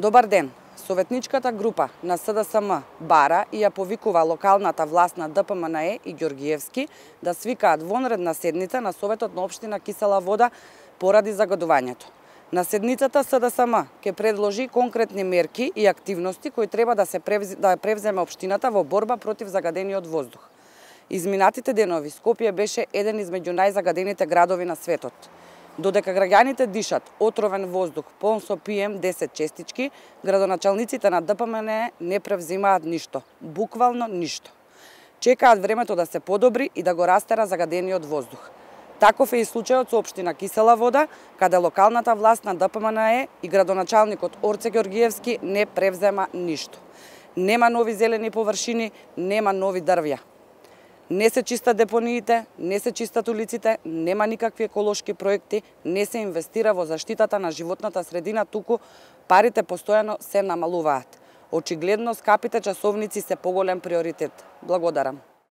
Добар ден! Советничката група на СДСМ бара и ја повикува локалната власт на ДПМНЕ и Ѓоргиевски да свикаат вонредна седница на Советот на општина Кисела Вода поради загадувањето. На седницата СДСМ ќе предложи конкретни мерки и активности кои треба да превземе општината во борба против загадениот воздух. Изминатите денови Скопје беше еден измеѓу најзагадените градови на светот. Додека граѓаните дишат отровен воздух полн со PM10 честички, градоначалниците на ДПМНЕ не превзимаат ништо, буквално ништо. Чекаат времето да се подобри и да го растера загадениот воздух. Таков е и случајот со општина Кисела Вода, каде локалната власт на ДПМНЕ и градоначалникот Орце Ѓоргиевски не превзема ништо. Нема нови зелени површини, нема нови дрвја. Не се чистат депониите, не се чистат улиците, нема никакви еколошки проекти, не се инвестира во заштитата на животната средина, туку парите постојано се намалуваат. Очигледно скапите часовници се поголем приоритет. Благодарам.